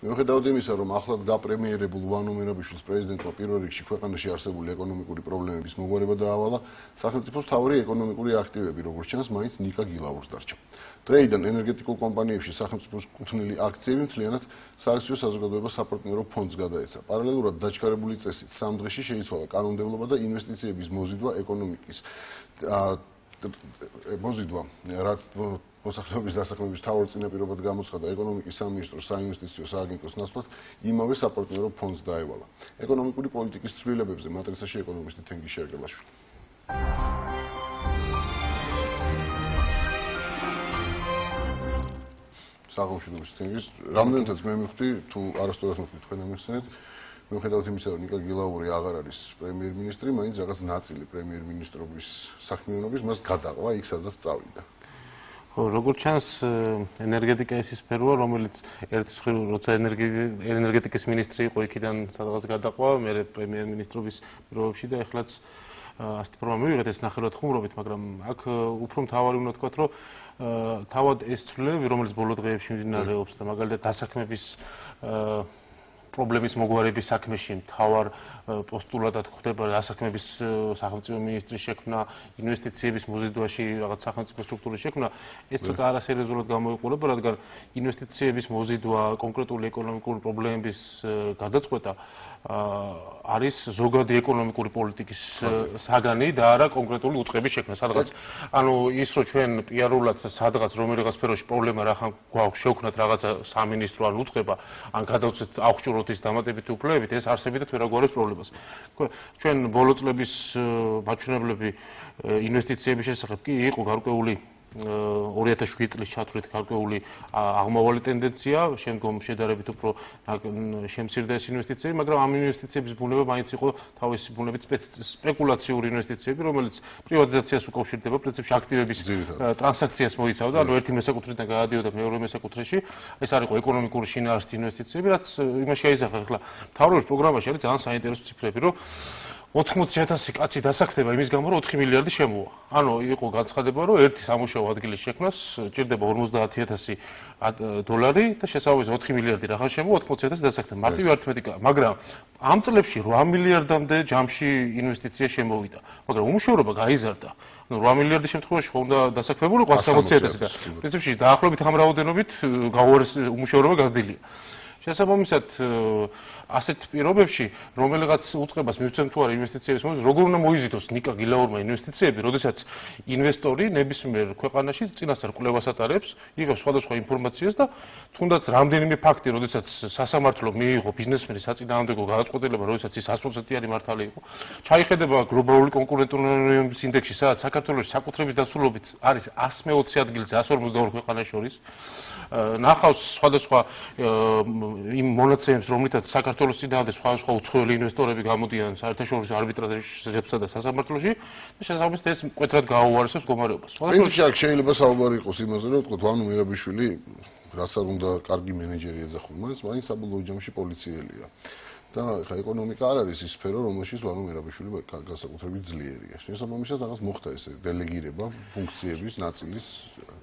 მიუხედავად იმისა, რომ ახლად გაპრემიერებულ ვანო მერაბიშვილს პრეზიდენტმა პირველ რიგში ქვეყანაში არსებული ეკონომიკური პრობლემების მოგვარება დაავალა, სახელმწიფოს მთავარი ეკონომიკური აქტივები, როგორც ჩანს, მაინც ნიკა გილაურს დარჩა. დღეიდან ენერგეტიკულ კომპანიებში სახელმწიფოს კუთვნილი აქციები მთლიანად სააქციო საზოგადოება საპარტნიორო ფონდს გადაეცა. პარალელურად დაჩქარებული წესით 3 დღეში შეიცვალა კანონმდებლობა და ინვესტიციების მოზიდვა ეკონომიკის მოზიდვა, რაც მოსახლეობის დასაქმების მთავარ წინაპირობად გამოცხადა ეკონომიკის სამინისტროს საინვესტიციო სააგენტოს ნაცვლად იმავე საპარტნიორო ფონდს დაევალა. ეკონომიკური პოლიტიკის ცვლილებებზე მატრიცაში ეკონომისტი თენგიზ შერგელაშვილი. საღამოშიდობის თენგიზ, რამდენადაც მე მივხვდი, თუ არასდროს მივხვდი თქვენ ამიხსენეთ, მიუხედავად იმისა, რომ ნიკა გილაური აღარ არის პრემიერ-მინისტრი, მაინც რაღაც ნაწილი პრემიერ-მინისტრობის საქმიანობის მას გადაყვა იქ, სადაც წავიდა. ხო, როგორც ჩანს, ენერგეტიკა ის სფეროა, რომელიც ერთის მხრივ, როცა ენერგეტიკის მინისტრი იყო, იქიდან სადღაც გადაყვა, მერე პრემიერ-მინისტრობის პირობებში და ეხლაც ასეთი ფორმა მივიღეთ ეს ნახევრად ხუმრობით, მაგრამ აქ უფრო მთავარი უნდა ვთქვათ, რომ თავად ეს ცვლილებები, რომელიც ბოლო დღეებში მიმდინარეობს და მაგალითად დასაქმების პრობლემის მოგვარების საქმეში მთავარ პოსტულადად ხდება დასაქმების სახელმწიფო მინისტრის შექმნა, ინვესტიციების მოზიდვაში რაღაც სახელმწიფო სტრუქტურის შექმნა, ეს ცოტა არასერიოზულად გამოიყურება, რადგან ინვესტიციების მოზიდვა, კონკრეტული ეკონომიკური პრობლემების გადაწყვეტა არის ზოგადი ეკონომიკური პოლიტიკის საგანი და არა კონკრეტული უწყების შექმნა. სადღაც ანუ ის რომ ჩვენ პიარულად სადღაც რომელიღაც სფეროში პრობლემა რახან გვაქვს შევქნათ რაღაცა სამინისტრო ან უწყება, ან გადავწყვეტ აღჭურვოთ ის დამატებითი უფლებებით, ეს არსებითად ვერ აგვარებს პრობლემას. ჩვენ ბოლო წლების მაჩვენებლები ინვესტიციების შესახებ კი იყო გარკვეული 2007 წლის ჩათვლით გარკვეული აღმავალი ტენდენცია, შემდგომ შედარებით უფრო შემცირდა ეს ინვესტიციები, მაგრამ ამ ინვესტიციების ბუნება მაინც იყო თავისი ბუნებით სპეკულაციური ინვესტიციები, რომელიც პრივატიზაციას უკავშირდება, პრინციპში აქტივების ტრანზაქციას მოიცავდა, ანუ ერთი მესაკუთრედან გადადიოდა მეორე მესაკუთრეში. ეს არ იყო ეკონომიკური შინაარსი ინვესტიციები, რაც იმაში აიზახა ახლა მთავრობის პროგრამაში არის ძალიან საინტერესო ციფრები, რომ 80,000 კაცი დასაქმდება იმის გამო, რომ 4 მილიარდი შემოვა. ანუ იყო განცხადება, რომ ერთი სამუშაო ადგილის შექმნას ჭირდება 50,000 დოლარი და შესაბამისად 4 მილიარდი რახან შემოვა, 80,000 დასაქმდება. მარტივი არითმეტიკა, მაგრამ ამ წლებში 8 მილიარდამდე ჯამში ინვესტიცია შემოვიდა, მაგრამ უმუშევრობა გაიზარდა. ну 8 მილიარდის შემთხვევაში ხო უნდა დასაქმებულიყო 160,000 და პრინციპში დაახლოებით ამ რაოდენობით უმუშევრობა გაზრდილია. შესაბამისად ასეთ პირობებში რომელიღაც უწყებას მივცემ თუ არა ინვესტიციების მომენტში როგორ უნდა მოიზიდოს ნიკა გილაურმა ინვესტიციები, როდესაც ინვესტორი ნებისმიერ ქვეყანაში წინასწარ კვლევას ატარებს, იღებს სხვადასხვა ინფორმაციას და თუნდაც რამდენიმე ფაქტი, როდესაც სასამართლო მიიღო ბიზნესმენის საწინააღმდეგო გადაწყვეტილება, როდესაც ის 100%-იანი მართალი იყო, ჩაიხედება გლობალური კონკურენტუნარობის ინდექსში, სადაც საქართველოს საკუთრების დასრულობით არის 120 ადგილზე 152 ქვეყანას შორის. ნახავს სხვადასხვა იმ მონაცემებს, რომლითაც საქართველოს წინააღმდეგ სხვადასხვა უცხოელი ინვესტორები გამოდიან საერთაშორისო არბიტრაჟებსა და სასამართლოში და შესაბამისად ეს მკვეთრად გააუარესებს მდგომარეობას. პრინციპში აქ შეიძლება საუბარი იყოს იმაზე, რომ ვთქვათ, ვანო მერაბიშვილი, რაც არ უნდა კარგი მენეჯერი ეძახონ, მაინც საბოლოო ჯამში პოლიციელია. და ხა ეკონომიკა არ არის ის სფერო, რომელშიც ვანო მერაბიშვილი განსაკუთრებით ძლიერია. შესაბამისად რაღაც მოხდა ეს დელეგირება ფუნქციების ნაწილის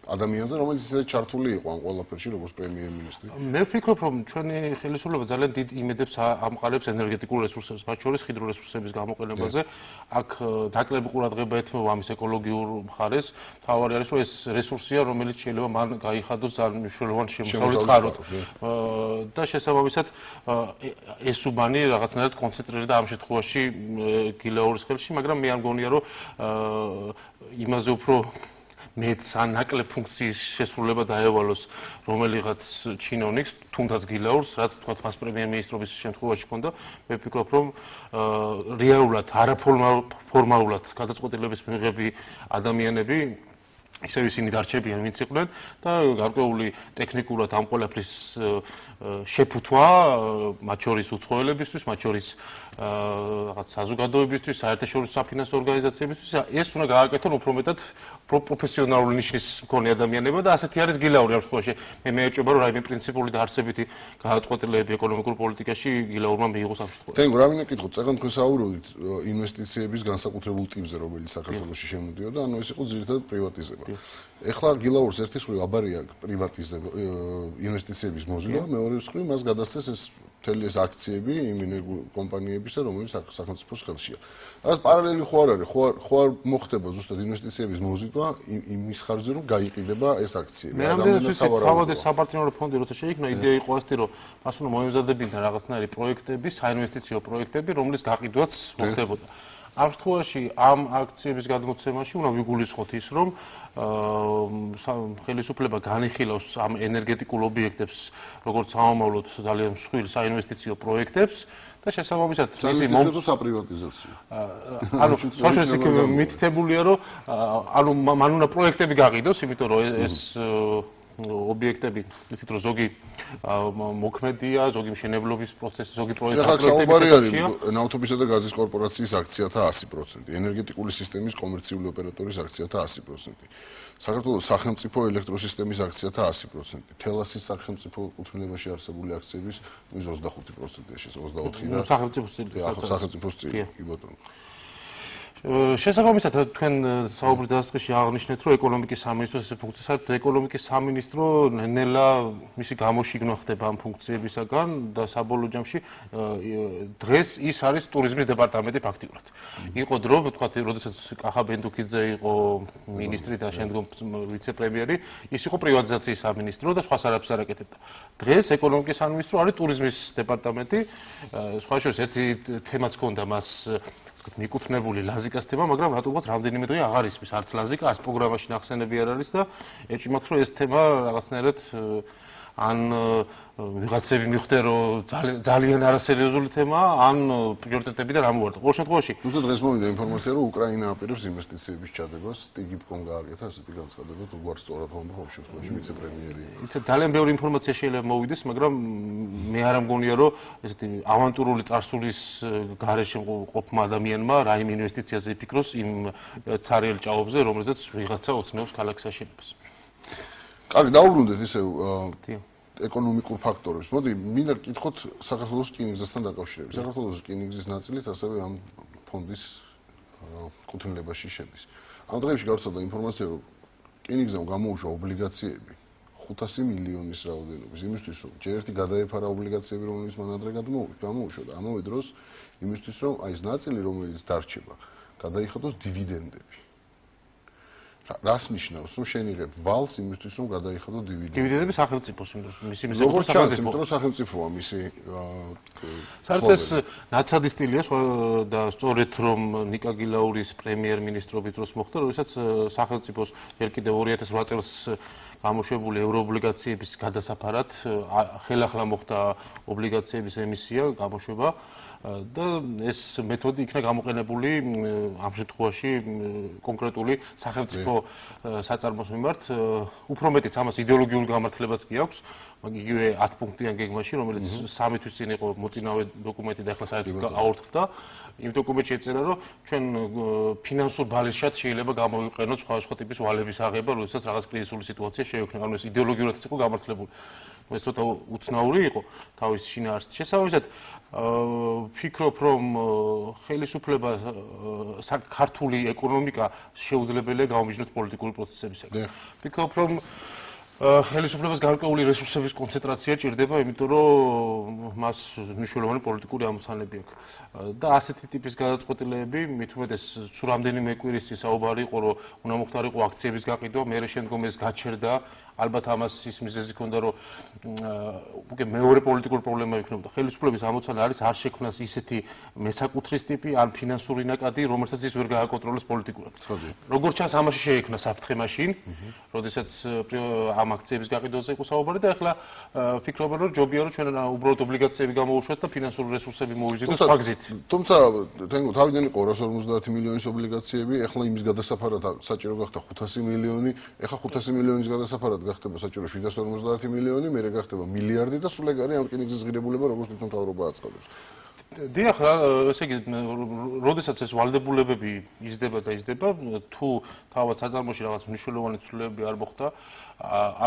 ადამიანზე, რომელიც ისე ჩართული იყო ამ ყველაფერში, როგორც პრემიერ-მინისტრი. მე ვფიქრობ, რომ ჩვენი ხელისუფლება ძალიან დიდ იმედებს ამყარებს ენერგეტიკულ რესურსებს, მათ შორის ჰიდრო რესურსების გამოყენებაზე. აქ დაკლები ყურადღება ეთმობა ამის ეკოლოგიურ მხარეს. თავარი არის, რომ ეს რესურსია, რომელიც შეიძლება მან გაიხადოს ძალიან მნიშვნელოვან შემოსავლის წყაროდ. და შესაბამისად ეს უბანი რაღაცნაირად კონცენტრირდა ამ შემთხვევაში გილაურის ხელში, მაგრამ მე არ მგონია, რომ იმაზე უფრო მეც ან ნაკლებ ფუნქციის შესრულება დაევალოს რომელიღაც ჩინოვნიკს, თუნდაც გილაურს, რაც თქვა მას პრემიერ-მინისტრობის შემთხვევაში ჰქონდა. მე ვფიქრობ, რომ რეალურად არაფორმალურად გადაწყვეტილების მიღები ადამიანები ისევ ისინი დარჩებიან, ვინც იყვნენ და გარკვეული ტექნიკურად ამ ყველაფრის შეფუთვა, მათ შორის უცხოელებისთვის, მათ შორის რაღაც საზოგადოებისთვის, საერთაშორისო საფინანსო ორგანიზაციებისთვის, ეს უნდა გააკეთონ უფრო მეტად პროფესიონალური ნიშნის მქონე ადამიანებია და ასეთი არის გილაური ამ შემთხვევაში. მე მეეჭვება რომ რაიმე პრინციპული და არსებითი გადაწყვეტილებები ეკონომიკურ პოლიტიკაში გილაურმა მიიღოს ამ შემთხვევაში. თენ რა მინდა კითხოთ, წეგან თქვენ საუბრობთ ინვესტიციების განსაკუთრებულ ტიპზე, რომელიც საქართველოში შემოდიოდა, ანუ ეს იყო ძირითადად პრივატიზება. ეხლა გილაურს ერთის მხრივ აბარია პრივატიზება, ინვესტიციების მოზიდვა, მეორეს მხრივ მას გადასცეს ეს მთელი ეს აქციები იმ კომპანიებისა, რომელიც სახელმწიფოს ხელშია. რაც პარალელი ხო არ არის, ხო არ მოხდება ზუსტად ინვესტიციების მოზიდვა იმის ხარჯზე, რომ გაიყიდება ეს აქციები. მე რამდენად თავად ეს საპარტნიორო ფონდი როცა შეიქმნა, იდეა იყო ასეთი, რომ მას უნდა მოემზადებინა რაღაცნაირი პროექტები, საინვესტიციო პროექტები, რომლის გაყიდვაც მოხდებოდა. ამ შემთხვევაში ამ აქციების გადმოცემაში უნდა ვიგულისხოთ ის, რომ ხელისუფლება განიხილავს ამ ენერგეტიკულ ობიექტებს, როგორც სამომავლოდ ძალიან მსხვილ საინვესტიციო პროექტებს და შესაბამისად მისი საპრივატიზაციო. ანუ სოციალისტიკი მითითებულია, რომ ანუ მან უნდა პროექტები გაყიდოს, იმიტომ რომ ეს ობიექტები, ისეთ რომ ზოგი მოქმედია, ზოგი მშენებლობის პროცესი, ზოგი პროექტი. ახლა საუბარი არის ნავთობისა და გაზის კორპორაციის აქციათა 100%, ენერგეტიკული სისტემის კომერციული ოპერატორის აქციათა 100%. საქართველოს სახელმწიფო ელექტროსისტემის აქციათა 100%, თელასის სახელმწიფო კუთვნილებაში არსებული აქციების 25%-ია, 24 და სახელმწიფოს წილი, კი ბატონო. შესაბამისად თქვენ საუბრის დასაწყისში აღნიშნეთ, რომ ეკონომიკის სამინისტროს ეს ფუნქცია საერთოდ ეკონომიკის სამინისტრო ნელა მისი გამოშიგნა ხდება ამ ფუნქციებისაგან და საბოლოო ჯამში დღეს ის არის ტურიზმის დეპარტამენტი ფაქტიურად. იყო დრო, ვთქვათ, როდესაც კახა ბენდუქიძე იყო მინისტრი და შემდგომ ვიცე-პრემიერი, ის იყო პრივატიზაციის სამინისტრო და სხვა არაფერს არ აკეთებდა. დღეს ეკონომიკის სამინისტრო არის ტურიზმის დეპარტამენტი. სხვა შორის ერთი თემაც ჰქონდა მას მიკუთვნებული ლაზიკას თემა, მაგრამ რატომღაც რამდენიმე დღე აღარ ისმის არც ლაზიკა, არც პროგრამაში ნახსენები არ არის და ეჭვი მაქვს, რომ ეს თემა რაღაცნაირად ან ვიღაცები მიხვდნენ, რომ ძალიან არასერიოზული თემაა, ან პრიორიტეტებიდან ამოვარდა. ყოველ შემთხვევაში, თუმცა დღეს მოვიდა ინფორმაცია, რომ უკრაინა აპირებს ინვესტიციების ჩადებას, სტიგიპკომ გააკეთა ასეთი განცხადება, თუ გვარ სწორად ხომ ყოველ შემთხვევაში ვიცე-პრემიერი. ძალიან ბევრი ინფორმაცია შეიძლება მოვიდეს, მაგრამ მე არ ამგონია, რომ ესეთი ავანტურული წარსულის გარეშე ყოფმა ადამიანმა რაიმე ინვესტიციაზე იფიქროს იმ ცარიელ ჭაობზე, რომელზეც ვიღაცა ოცნობს ქალაქის აშენებას. კარგი, დაუბრუნდეთ ისევ ეკონომიკურ ფაქტორებს. მოდი, მინდა გკითხოთ საქართველოს რკინიგზასთან დაკავშირებით. საქართველოს რკინიგზის ნაწილიც ასევე ამ ფონდის კუთვნილებაში შედის. ამ დღეებში გავრცელდა ინფორმაცია, რომ რკინიგზამ გამოუშვა ობლიგაციები 500 მილიონის რაოდენობის, იმისთვის, რომ ჯერ ერთი გადაეფარა ობლიგაციები, რომელიც მან ადრე გამოუშვა და ამავე დროს იმისთვის, რომ აი ეს ნაწილი, რომელიც დარჩება, გადაიხადოს დივიდენდები. რას ნიშნავს, რომ შენ იღებ ვალს იმისთვის, რომ გადაიხადო დივიდენდები? დივიდენდები სახელმწიფოს, მისი როგორც სახელმწიფოა მისი. საერთოდ ეს ნაცადი სტილია და სწორედ რომ ნიკა გილაურის პრემიერ-მინისტრობის დროს მოხდა, როდესაც სახელმწიფოს ჯერ კიდევ 2008 წელს გამოშვებული ევროობლიგაციების გადასაფარად ხელახლა მოხდა ობლიგაციების ემისია, გამოშვება და ეს მეთოდი იქნა გამოყენებული ამ შემთხვევაში კონკრეტული სახელმწიფო საწარმოს მიმართ. უფრო მეტიც ამას იდეოლოგიურ გამართლებაც კი აქვს. იგივე 10 პუნქტიან გეგმაში, რომელიც 3 თვის წინ იყო მოწინავე დოკუმენტი და ახლა საერთოდ აორთქდა. იმ დოკუმენტში ეწერა, რომ ჩვენ ფინანსურ ბალანსშად შეიძლება გამოვიყენოთ სხვა ტიპის ვალების აღება, როდესაც რაღაც კრიზისული სიტუაცია შეექმნა. ანუ ეს იდეოლოგიურადაც იყო გამართლებული. ეს ცოტა უცნაური იყო თავის შინაარსით. შესაბამისად, ვფიქრობ, რომ ხელისუფლება ქართული ეკონომიკა შეუძლებელია გამომიჯნოს პოლიტიკური პროცესებისაგან. ვფიქრობ, რომ ხელისუფლებას გარკვეული რესურსების კონცენტრაცია ჭირდება, იმიტომ რომ მას მნიშვნელოვანი პოლიტიკური ამოცანები აქვს. და ასეთი ტიპის გადაწყვეტილებები, მით უმეტეს სულ რამდენიმე კვირის წინ საუბარი იყო, რომ უნდა მოხდარიყო აქციების გაყიდვა, მერე შემდგომ ეს გაჩერდა. ალბათ ამას ის მიზეზი ჰქონდა, რომ უკვე მეორე პოლიტიკური პრობლემა იქნებოდა. ხელისუფლების ამოცანა არის არ შექმნას ისეთი მესაკუთრის ტიპი ან ფინანსური ნაკადი, რომელსაც ის ვერ გააკონტროლებს პოლიტიკურად. როგორც ჩანს, ამაში შეექმნა საფრთხე მაშინ, როდესაც ამ აქციების გაყიდვაზე იყო საუბარი და ახლა ვფიქრობ, რომ ჯობია რომ ჩვენ უბრალოდ ობლიგაციები გამოუშვათ და ფინანსური რესურსები მოვიზიდოთ სხვა გზით. თუმცა თენგო თავიდან იყო 250 მილიონის ობლიგაციები, ახლა იმის გადასაფარად საჭირო გახდა 500 მილიონი, ახლა 500 მილიონის გადასაფარად გახდება საჭირო 750 მილიონი, მერე გახდება მილიარდი და სულ ეგ არის ამ რკინიგზის ღირებულება, როგორც თვითმთავრობა აწყობებს. დიახ, ესე იგი, როდესაც ეს ვალდებულებები იზრდება და იზრდება, თუ თავად საწარმოში რაღაც მნიშვნელოვანი ცვლილებები არ მოხდა,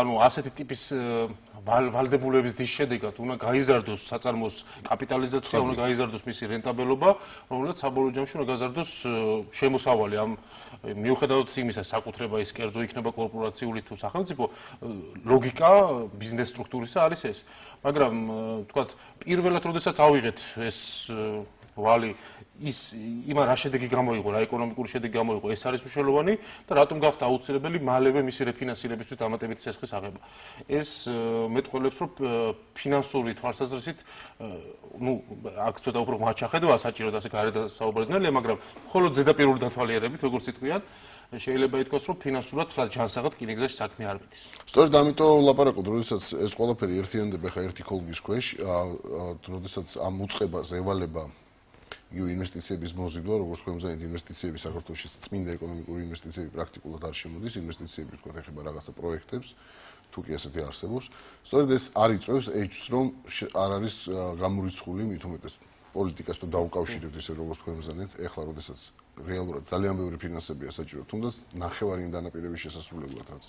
ანუ ასეთი ტიპის ვალდებულების დის შედეგად უნდა გაიზარდოს საწარმოს კაპიტალიზაცია, უნდა გაიზარდოს მისი რენტაბელობა, რომელსაც საბოლოო ჯამში უნდა გაზარდოს შემოსავალი ამ მიუხედავად იმისა, საკუთრება ის კერძო იქნება კორპორაციული თუ სახელმწიფო, ლოგიკა ბიზნეს სტრუქტურისა არის ეს. მაგრამ თქვათ, პირველად როდესაც ავიღეთ ეს ვალი ის იმან რა შედეგი გამოიღო, რა ეკონომიკური შედეგი გამოიღო, ეს არის მნიშვნელოვანი და რატომ გახდა აუცილებელი მალევე მისი რეფინანსირებისთვის დამატებითი სესხის აღება. ეს მეტყველებს, რომ ფინანსური თვალსაზრისით, აქ ცოტა უფრო მაჩახედვა საჭიროდ ასე გარეთ საუბარდნელია, მაგრამ მხოლოდ ზედაპირული დათვალიერებით, როგორც იტყვიან, შეიძლება ითქვას, რომ ფინანსურად ჯანსაღად რკინიგზაში საქმე არ მიდის. სწორედ ამიტომ ვლაპარაკობთ, როდესაც ეს ყველაფერი ერთიანდება ხა ერთი ქოლგის ქვეშ, როდესაც ამ უწყებას ევალება ინვესტიციების მოზიდვა, როგორც თქვენ ინვესტიციები საქართველოში წმინდა ეკონომიკური ინვესტიციები პრაქტიკულად არ შემოდის, ინვესტიციები თქვა ეხება რაღაცა პროექტებს, თუ კი ასეთი არსებობს. სწორედ ეს არ იწვევს ეჭვს, რომ არ არის გამორიცხული მით უმეტეს პოლიტიკას თუ დაუკავშირებთ ისე როგორც თქვენ მზადეთ, ეხლა როდესაც რეალურად ძალიან ბევრი ფინანსებია საჭირო, თუნდაც ნახევარი იმ დანაპირების შესასრულებლად, რაც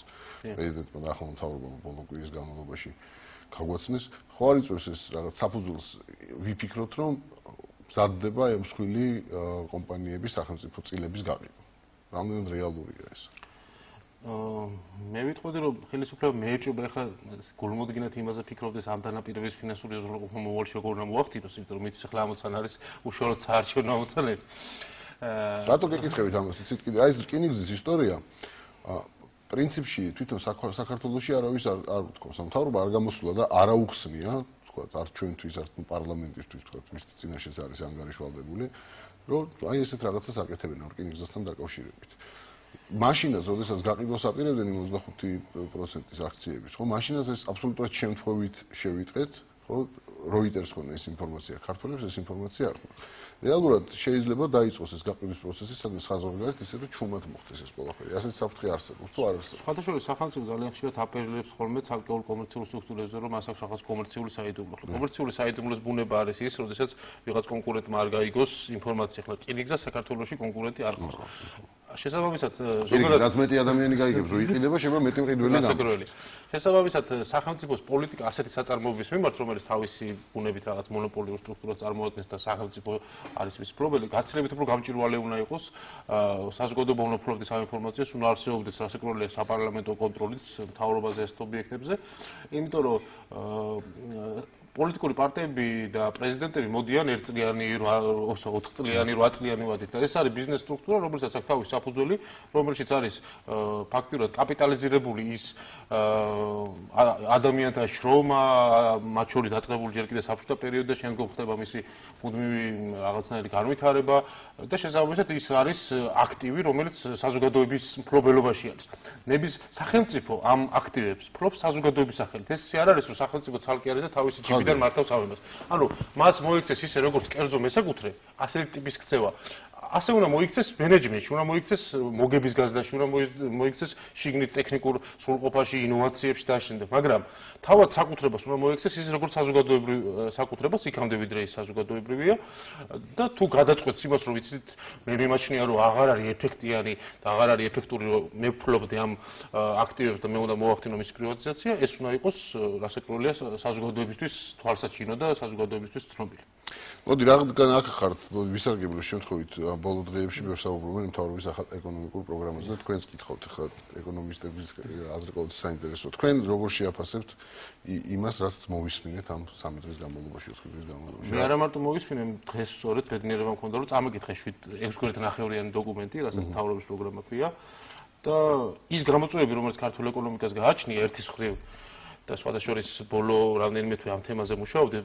პრეზიდენტმა და ახალ მთავრობამ ბოლო კვირის განმავლობაში გაგვაცნეს, ხო არ იწვევს ეს რაღაც საფუძველს ვიფიქროთ, რომ მზადდება მსხვილი კომპანიების სახელმწიფო წილების გაყიდვა. რამდენად რეალურია ეს? მე ვიტყოდი, რომ ხელისუფლება მეეჭვება ახლა გულმოდგინედ იმაზე ფიქრობდეს ამ დანაპირების ფინანსური უზრუნველყოფა მოვალში როგორ უნდა მოახდინოს, იმიტომ რომ მისთვის ახლა ამოცან არის უშუალოდ საარჩევნო ამოცანები. რატო გეკითხებით ამას? იცით კიდე აი ეს რკინიგზის ისტორია პრინციპში თვითონ საქართველოში არავის არ უთქვამს, მთავრობა არ გამოსულა და არ აუხსნია, თქვა, არ ჩვენთვის, არ პარლამენტისთვის, თქვა, მის წინაშეც არის ანგარიშვალდებული, რომ აი ესეთ რაღაცას აკეთებენ რკინიგზასთან დაკავშირებით. მაშინაც, როდესაც გაყიდვას აპირებდნენ 25%-ის აქციების, ხო, მაშინაც ეს აბსოლუტურად შემთხვევით შევიტყეთ, ხო, Reuters ქონა ეს ინფორმაცია, ქართველებს ეს ინფორმაცია არ ქონდათ. რეალურად შეიძლება დაიწყოს ეს გაყიდვის პროცესი, სადაც საზღვარგარეთ ისე რომ ჩუმად მოხდეს ეს ყველაფერი. ასეთ საფრთხე არსებობს თუ არ არსებობს? სხვადასხვა სახელმწიფო ძალიან ხშირად აპელირებს ხოლმე ცალკეულ კომერციულ სტრუქტურებზე, რომ მას აქვს რაღაც კომერციული საიდუმლო. კომერციული საიდუმლოს ბუნება არის ის, როდესაც ვიღაც კონკურენტმა არ გაიგოს ინფორმაცია, ხლა რკინიგზა საქართველოში კონკურენტი არ ყავს. შესაბამისად, ზოგადად რაც მეტი ადამიანი გაიგებს, რომ იყიდება, შეიძლება მეტი მყიდველი დამყიდველი. შესაბამისად, სახელმწიფოს პოლიტიკა ასეთი საწარმოების მიმართ, რომელიც თავისი ბუნებით რაღაც მონოპოლიურ სტრუქტურას წარმოადგენს და სახელმწიფო არის მის მფლობელი, გაცილებით უფრო გამჭვირვალე უნდა იყოს საზოგადოება უნდა ფლობდეს ამ ინფორმაციას, უნდა არსებობდეს რასაკვირველია საპარლამენტო კონტროლიც მთავრობაზე ასეთ ობიექტებზე, იმიტომ რომ პოლიტიკური პარტიები და პრეზიდენტები მოდიან 1 წლიანი, 4 წლიანი, 8 წლიანი ვადით და ეს არის ბიზნეს სტრუქტურა, რომელსაც აქვს თავისი საფუძველი, რომელშიც არის ფაქტიურად კაპიტალიზირებული ის ადამიანთა შრომა, მათ შორის დაწყებული ჯერ კიდევ საბჭოთა პერიოდში და შემდგომ ხდება მისი მუდმივი რაღაცნაირი განვითარება და შესაბამისად ის არის აქტივი, რომელიც საზოგადოების მფლობელობაში არის. ნების სახელმწიფო ამ აქტივებს ფლობს საზოგადოების სახელით. ეს არ არის რომ სახელმწიფო ცალკე არის და თავისი ჯიბიდან მართავს ამებას. ანუ მას მოიქცეს ისე როგორც კერძო მესაკუთრე, ასეთი ტიპის ქცევა. ასე უნდა მოიქცეს მენეჯმენტში, უნდა მოიქცეს მოგების გაზდაში, უნდა მოიქცეს შიგნით ტექნიკურ სრულყოფაში, ინოვაციებში და შემდეგ. მაგრამ თავად საკუთრებას უნდა მოიქცეს ისე როგორც საზოგადოებრივ საკუთრებას, იქამდე ვიდრე ის საზოგადოებრივია და თუ გადაწყვეტს იმას, რომ ვიცით, მე მიმაჩნია, რომ აღარ არის ეფექტიანი და აღარ არის ეფექტური, რომ მე ვფლობდი ამ აქტივებს და მე უნდა მოახდინო მის პრივატიზაცია, ეს უნდა იყოს რასაკვირველია საზოგადოებისთვის თვალსაჩინო და საზოგადოებისთვის ცნობილი. მოდი რადგან აქ ხართ ვისარგებლო შემთხვევით ბოლო დღეებში ბევრ საუბრობენ მთავრობის ახალ ეკონომიკურ პროგრამაზე და თქვენს კითხავთ ხა ეკონომისტების აზრი ყოველთვის საინტერესოა. თქვენ როგორ შეაფასებთ იმას, რაც მოვისმინეთ ამ 3 დღის განმავლობაში, 4 დღის განმავლობაში? მე არა მარტო მოვისმინე, დღეს სწორედ ბედნიერება მქონდა, რომ წამიკითხე 6 გვერდით ნახევრიანი დოკუმენტი, რასაც მთავრობის პროგრამა ქვია და ის გამოწვევები, რომელიც ქართულ ეკონომიკას გააჩნია ერთის მხრივ და სხვადასხვა ბოლო რამდენიმე თვე ამ თემაზე მუშაობდი,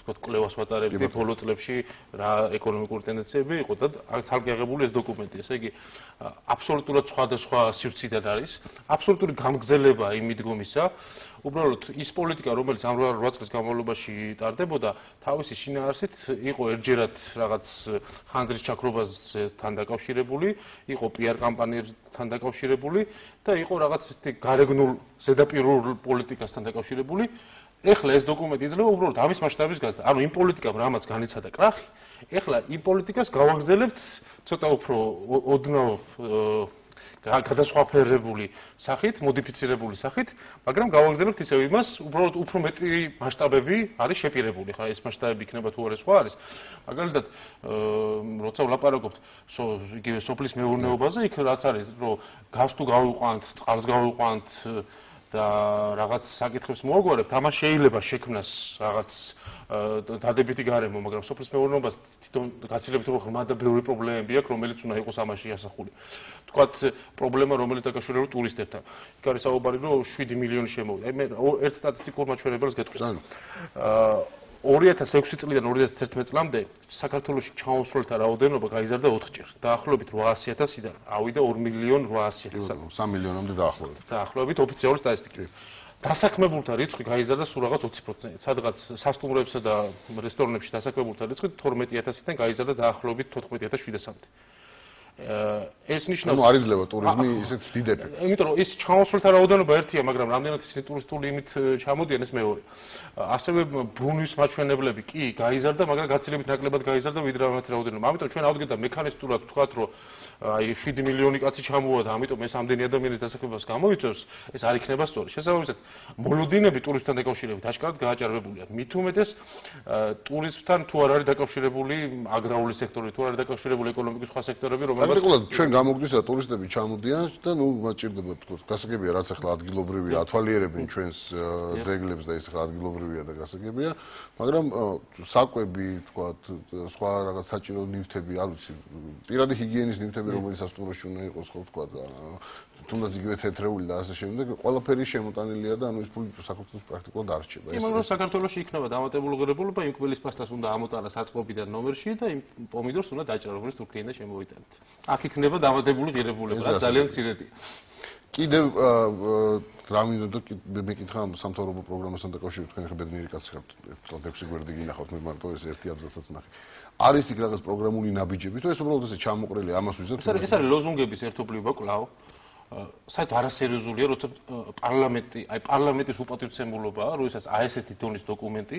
კლევას ვატარებდი ბოლო წლებში რა ეკონომიკური ტენდენციები იყო და ცალკე აღებული ეს დოკუმენტი, ესე იგი აბსოლუტურად სხვადასხვა სივრციდან არის, აბსოლუტური გამგზელება იმ მიდგომისა, უბრალოდ ის პოლიტიკა, რომელიც ამ 8 წლის განმავლობაში ტარდებოდა, თავისი შინაარსით იყო ერთჯერად რაღაც ხანძრის ჩაქრობასთან დაკავშირებული, იყო PR კამპანიებთან დაკავშირებული და იყო რაღაც ისეთი გარეგნულ ზედაპირულ პოლიტიკასთან დაკავშირებული ეხლა ეს დოკუმენტი იძლევა უბრალოდ ამის მასშტაბის გაზრდა. ანუ იმ პოლიტიკამ რამაც განიცადა კრახი, ეხლა იმ პოლიტიკას გავაგრძელებთ ცოტა უფრო ოდნავ გადასხვაფერებული სახით, მოდიფიცირებული სახით, მაგრამ გავაგრძელებთ ისევ იმას, უბრალოდ უფრო მეტი მასშტაბები არის შეპირებული. ხა ეს მასშტაბები იქნება თუ არა სხვა არის. მაგალითად, როცა ვლაპარაკობთ იგივე სოფლის მეურნეობაზე, იქ რაც არის, რომ გაზს თუ გავიყვანთ, წყალს გავიყვანთ და რაღაც საკითხებს მოაგვარებთ, ამას შეიძლება შექმნას რაღაც დადებითი გარემო, მაგრამ სოფლის მეურნეობას თვითონ გაცილებით ღრმა და ბევრი პრობლემები აქვს, რომელიც უნდა იყოს ამაში ასახული. თქვათ პრობლემა, რომელიც დაკავშირებულია ტურისტებთან. იქ არის საუბარი, რომ 7 მილიონი შემოვიდა. აი მე ერთ სტატისტიკურ მაჩვენებელს გეტყვით. 2006 წლიდან 2011 წლამდე საქართველოში ჩაუსრულთა რაოდენობა გაიზარდა 4-ჯერ. დაახლოებით 800.000-დან ავიდა 2.800.000. 3 მილიონამდე დაახლოებით. დაახლოებით ოფიციალური სტატისტიკით. დასაქმებულთა რიცხვი გაიზარდა სულ რაღაც 20%. სადღაც სასტუმროებსა და რესტორნებში დასაქმებულთა რიცხვი 12.000-დან გაიზარდა დაახლოებით 14.700-მდე. ეს ნიშნავს, ანუ არ იძლევა ტურიზმი ისეთ დიდ ეფექტს. იმიტომ რომ ის ჩამოსვლთა რაოდენობა ერთია, მაგრამ რამდენად ისინი ტურისტული იმით ჩამოდიან, ეს მეორე. ასევე ბრუნვის მაჩვენებლები კი გაიზარდა, მაგრამ გაცილებით ნაკლებად გაიზარდა ვიდრე ამათი რაოდენობა. ამიტომ ჩვენ ავდგეთ და მექანისტურად ვთქვათ, რომ აი 7 მილიონი კაცი ჩამოვა და ამიტომ ეს ამდენი ადამიანის დასაქმებას გამოიწვევს, ეს არ იქნება სწორი. შესაბამისად, მოლოდინები ტურიზმთან დაკავშირებით აშკარად გააჭარბებულია. მით უმეტეს ტურიზმთან თუ არ არის დაკავშირებული აგრარული სექტორი, თუ არ არის დაკავშირებული ეკონომიკის სხვა სექტორები, რომლებიც ჩვენ გამოგვდის და ტურისტები ჩამოდიან და ნუ მაჭირდება თქო, გასაგებია რაც ახლა ადგილობრივია, ათვალიერებენ ჩვენს ძეგლებს და ეს ახლა ადგილობრივია და გასაგებია, მაგრამ საკვები, თქვათ, სხვა რაღაც საჭირო ნივთები, არ ვიცი, პირადი ჰიგიენის ნივთები რომელიც სასტუმროში უნდა იყოს, ხო ვთქვა და თუნდაც იგივე თეთრეული და ასე შემდეგ, ყველაფერი შემოტანილია და ანუ ეს ფული საქართველოს პრაქტიკულად არ რჩება. მაგრამ საქართველოში იქნება დამატებული ღირებულება, იმ კბილის პასტას უნდა ამოტანა საწყობიდან ნომერში და იმ პომიდორს უნდა დაჭერა, როგორც თურქიიდან შემოვიტანეთ. აქ იქნება დამატებული ღირებულება, რაც ძალიან მცირედია. კიდევ რა მინდოდა მეკითხა სამთავრობო პროგრამასთან დაკავშირებით, თქვენ ხა ბედნიერი კაცი ხართ, 6 გვერდი გინახავთ, მე მარტო ეს ერთი აბზაცაც ნახე. არის იქ რაღაც პროგრამული ნაბიჯები, თუ ეს უბრალოდ ესე ჩამოყრილი ამას ვიზოთ? ეს არის ლოზუნგების ერთობლივობა კვლავ. საერთოდ არასერიოზულია, როცა პარლამენტის უპატივცემულობაა, როდესაც აი ესეთი დონის დოკუმენტი,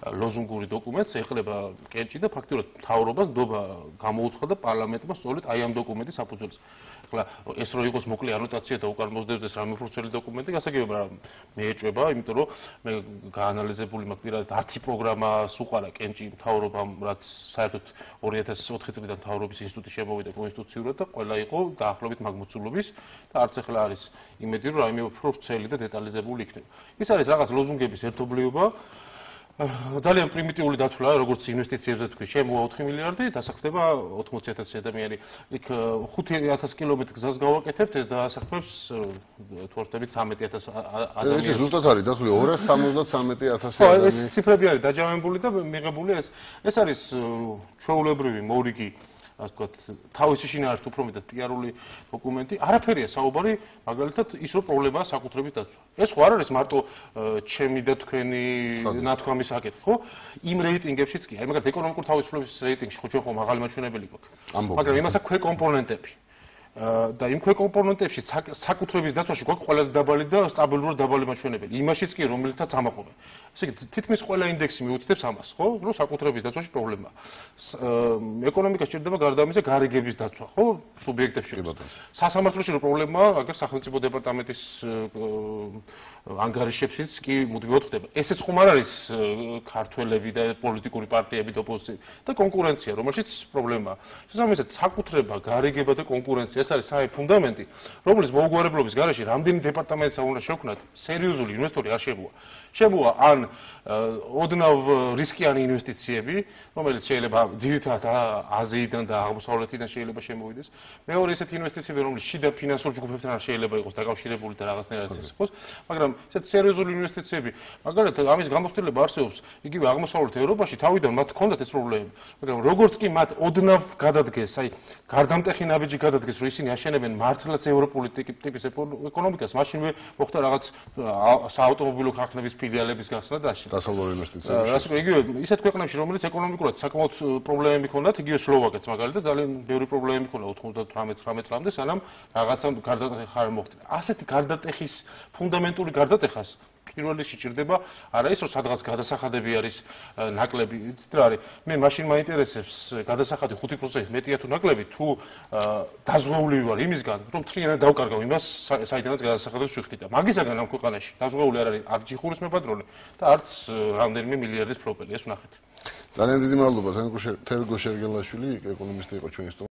ლოზუნგური დოკუმენტს ეხლება კენჭი და ფაქტიურად მთავრობას ნდობა გამოუცხადა პარლამენტმა სწორედ აი ამ დოკუმენტის საფუძველზე. ახლა ეს რო იყოს მოკლე ანოტაცია და უკან მოსდევდეს რამე უფრო დოკუმენტი, გასაგებია, მე ეჭვება, იმიტომ რომ მე გაანალიზებული მაქვს პირადად 10 პროგრამას უყარა კენჭი მთავრობამ, რაც საერთოდ 2004 წლიდან მთავრობის ინსტიტუტი შემოვიდა კონსტიტუციურად და ყველა იყო დაახლოებით მაგ მოცულობის და არც ახლა არის იმედი, რომ რაიმე უფრო ვრცელი და დეტალიზებული იქნება. ის არის რაღაც ლოზუნგების ერთობლიობა. ძალიან პრიმიტიული დათვლა, როგორც ინვესტიციებზე თქვი, შემოვა 4 მილიარდი, დასაქმდება 80,000 ადამიანი. იქ 5,000 კილომეტრი გზას გავაკეთებთ, ეს დაასაქმებს თუ არ ვთქვი 13,000 ადამიანს. ეს ზუსტად არის დათვლი 273,000 ადამიანი. ეს ციფრები არის დაჯავებული და მიღებული ეს არის ჩვეულებრივი მორიგი, ასე ვთქვათ, თავისი შინაარსით უფრო მეტად პიარული დოკუმენტი. არაფერია საუბარი, მაგალითად, ის რომ პრობლემაა საკუთრების დაცვა. ეს ხო არ არის მარტო ჩემი და თქვენი ნათქვამის საკითხი, ხო? იმ რეიტინგებშიც კი, აი მაგალითად ეკონომიკური თავისუფლების რეიტინგში ხო ჩვენ ხო მაღალი მაჩვენებელი გვაქვს. მაგრამ იმას აქვს ქვეკომპონენტები. და იმ ქვეკომპონენტებში საკუთრების დაცვაში გვაქვს ყველაზე დაბალი და სტაბილურად დაბალი მაჩვენებელი. იმაშიც კი რომელთაც ამაყობენ. ესე იგი თითქმის ყველა ინდექსი მიუთითებს ამას, ხო? რომ საკუთრების დაცვაში პრობლემაა. ეკონომიკას სჭირდება გარდა ამისა გარიგების დაცვა, ხო? სუბიექტებში. სასამართლოში რო პრობლემაა, აგერ სახელმწიფო დეპარტამენტის ანგარიშებშიც კი მუდმივად ხდება. ესეც ხომ არ არის ქართველები და პოლიტიკური პარტიები და ოპოზიცია და კონკურენცია, რომელშიც პრობლემაა. შესაბამისად, საკუთრება, გარიგება და კონკურენცია ეს არის საერთო ფუნდამენტი, რომლის მოუგვარებლობის გარეშე რამდენი დეპარტამენტსა უნდა შევქმნათ, სერიოზული ინვესტორი არ შემოვა. შემოვა ან ოდნავ რისკიანი ინვესტიციები, რომელიც შეიძლება ძირითადად აზიიდან და აღმოსავლეთიდან შეიძლება შემოვიდეს. მეორე ესეთი ინვესტიციები, რომლის შიდა ფინანსურ ჯგუფებთან შეიძლება იყოს დაკავშირებული და რაღაცნაირად ეს იყოს, მაგრამ ესეთი სერიოზული ინვესტიციები, მაგალითად, ამის გამოცდილება არსებობს იგივე აღმოსავლეთ ევროპაში, თავიდან მათ ჰქონდათ ეს პრობლემები, მაგრამ როგორც კი მათ ოდნავ გადადგეს, აი გარდამტეხი ნაბიჯი გადადგეს, რომ ისინი აშენებენ მართლაც ევროპული ტიპის ეკონომიკას, მაშინვე მოხდა რაღაც საავტომობილო ქარხნების ფილიალების გახსნა და ასე. დასავლური ინვესტიციები. ასე რომ იგივე ისეთ ქვეყნებში, რომელიც ეკონომიკურად საკმაოდ პრობლემები ჰქონდათ, იგივე სლოვაკეთს მაგალითად, ძალიან ბევრი პრობლემები ჰქონდა 98-19 წლამდე, სანამ რაღაცა გარდატეხი არ მოხდა. ასეთი გარდატეხის ფუნდამენტური გარდატეხას პირველ რიგში ჭირდება არა ის რომ სადღაც გადასახადები არის ნაკლები, იცით რა არის? მე მაშინ მაინტერესებს გადასახადი 5% მეტია თუ ნაკლები, თუ დაზღვეული ვარ იმისგან, რომ თლიანად დავკარგავ იმას, საიდანაც გადასახადებს ვიხდი და მაგისაგან ამ ქვეყანაში დაზღვეული არ არის არც ჯიხურის მებადროლე და არც რამდენიმე მილიარდის პროპელი, ეს ვნახეთ. ძალიან დიდი მადლობა თერგო შერგელაშვილი, ეკონომისტი იყო ჩვენი სტუმარი.